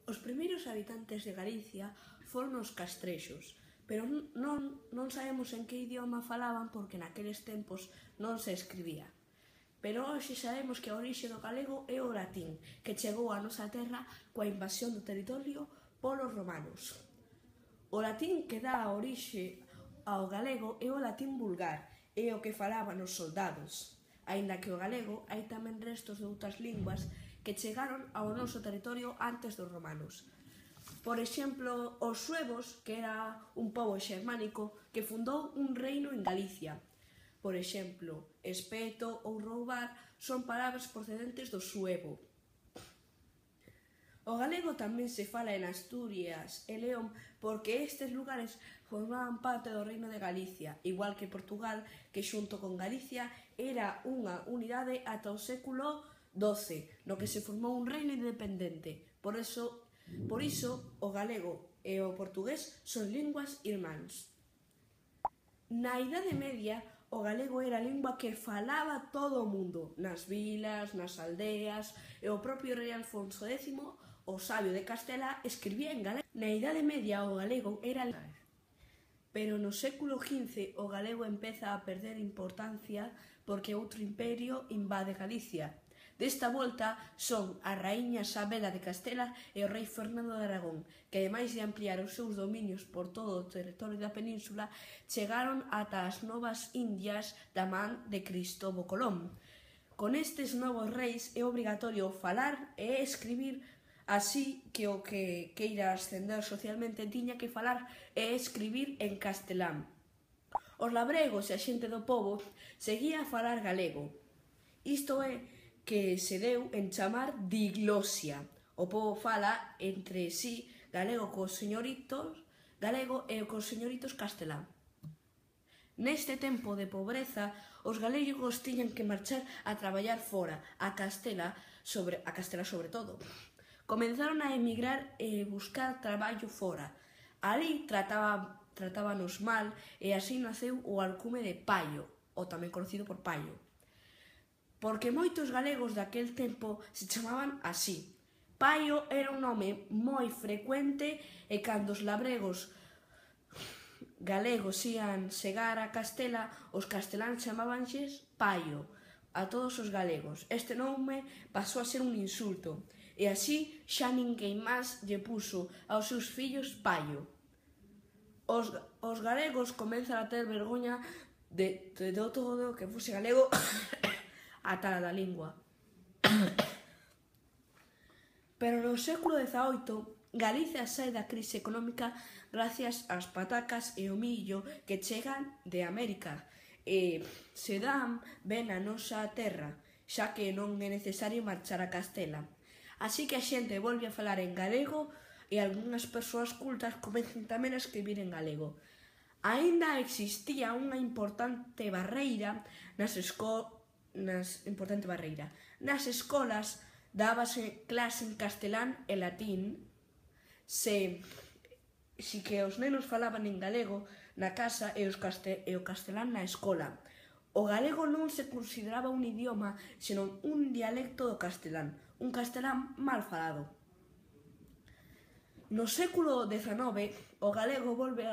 Os primeiros habitantes de Galicia foron os castrexos, pero non sabemos en que idioma falaban porque naqueles tempos non se escribía. Pero hoxe sabemos que a orixe do galego é o latín, que chegou á nosa terra coa invasión do territorio polos romanos. O latín que dá a orixe ao galego é o latín vulgar, é o que falaban os soldados. Aínda que o galego hai tamén restos de outras linguas que chegaron ao noso territorio antes dos romanos. Por exemplo, os suevos, que era un pobo xermánico que fundou un reino en Galicia. Por exemplo, espeto ou roubar son palabras procedentes do suevo. O galego tamén se fala en Asturias e León porque estes lugares formaban parte do reino de Galicia, igual que Portugal, que xunto con Galicia era unha unidade ata o século XII, no que se formou un reino independente. Por iso o galego e o portugués son linguas irmáns. Na Idade Media, o galego era a lingua que falaba todo o mundo, nas vilas, nas aldeas, e o propio rei Alfonso X, o sabio de Castela, escribía en galego. Na Idade Media o galego era... Pero no século XV o galego empeza a perder importancia porque outro imperio invade Galicia. Desta volta son a raíña Sabela de Castela e o rei Fernando de Aragón, que ademais de ampliar os seus dominios por todo o territorio da península, chegaron ata as Novas Indias da man de Cristóbal Colón. Con estes novos reis é obrigatorio falar e escribir, así que o que queira ascender socialmente tiña que falar e escribir en castelán. Os labregos e a xente do pobo seguía a falar galego. Isto é que se deu en chamar diglosia. O pobo fala entre sí galego cos señoritos galego e cos señoritos castelán. Neste tempo de pobreza, os galegos tiñan que marchar a traballar fora, a Castela sobre todo. Comenzaron a emigrar e buscar traballo fora. Ali tratábanos mal e así naceu o alcume de paio, ou tamén conocido por paio. Porque moitos galegos daquel tempo se chamaban así. Paio era un nome moi frecuente e cando os labregos galegos ían chegar a Castela, os casteláns chamábanlles paio a todos os galegos. Este nome pasou a ser un insulto e así xa ninguén máis lle puso aos seus fillos paio. Os galegos comezan a ter vergoña de todo que fose galego ata da lingua. Pero no século XVIII, Galicia sae da crise económica gracias ás patacas e o millo que chegan de América e se dan ben a nosa terra, xa que non é necesario marchar a Castela. Así que a xente volve a falar en galego e algunhas persoas cultas comezan tamén a escribir en galego. Aínda existía unha importante barreira nas escolas dábase clase en castelán e latín, si que os nenos falaban en galego na casa e o castelán na escola. O galego non se consideraba un idioma, senón un dialecto do castelán, un castelán mal falado. No século XIX, o galego volve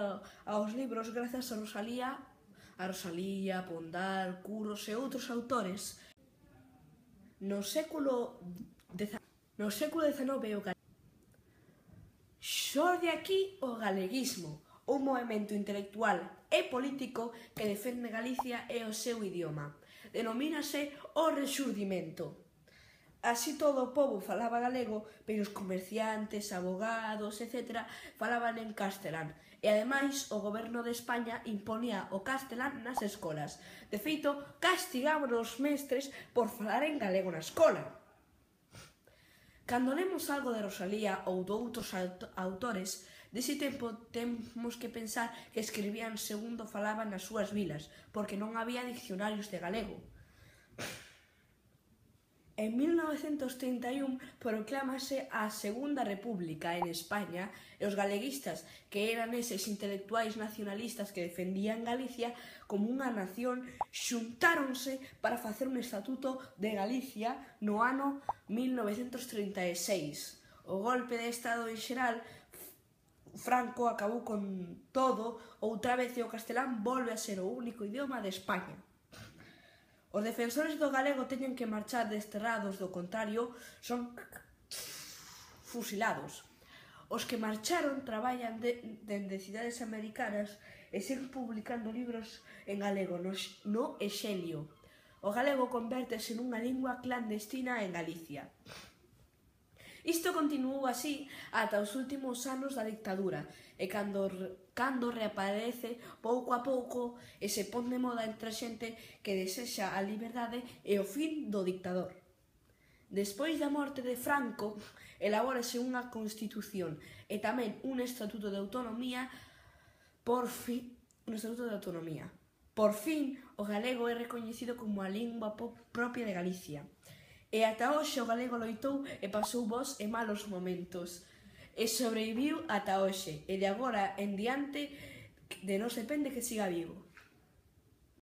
aos libros grazas a Rosalía, Pondal, Curros e outros autores. No século XIX o galego xorde aquí o galeguismo, un movemento intelectual e político que defende Galicia e o seu idioma. Denomínase o Rexurdimento. Así todo o pobo falaba galego, pero os comerciantes, abogados, etc., falaban en castelán. E ademais, o goberno de España imponía o castelán nas escolas. De feito, castigaban os mestres por falar en galego na escola. Cando lemos algo de Rosalía ou de outros autores, dese tempo temos que pensar que escribían segundo falaban nas súas vilas, porque non había diccionarios de galego. En 1931 proclámase a Segunda República en España e os galeguistas, que eran eses intelectuais nacionalistas que defendían Galicia como unha nación, xuntáronse para facer un estatuto de Galicia no ano 1936. o golpe de estado en xeral, Franco acabou con todo outra vez e o castelán volve a ser o único idioma de España. Os defensores do galego teñen que marchar desterrados, do contrario, son fusilados. Os que marcharon traballan dende cidades americanas e seguen publicando libros en galego no Exelio. O galego convértese nunha lingua clandestina en Galicia. Isto continuou así ata os últimos anos da dictadura e cando reaparece pouco a pouco e se pon de moda entre a xente que desexa a liberdade e o fin do dictador. Despois da morte de Franco, elabórase unha constitución e tamén un estatuto de autonomía. Por fin, o galego é recoñecido como a lingua propia de Galicia. E ata hoxe o galego loitou e pasou bons e malos momentos. E sobreviviu ata hoxe. E de agora en diante de nós depende que siga vivo.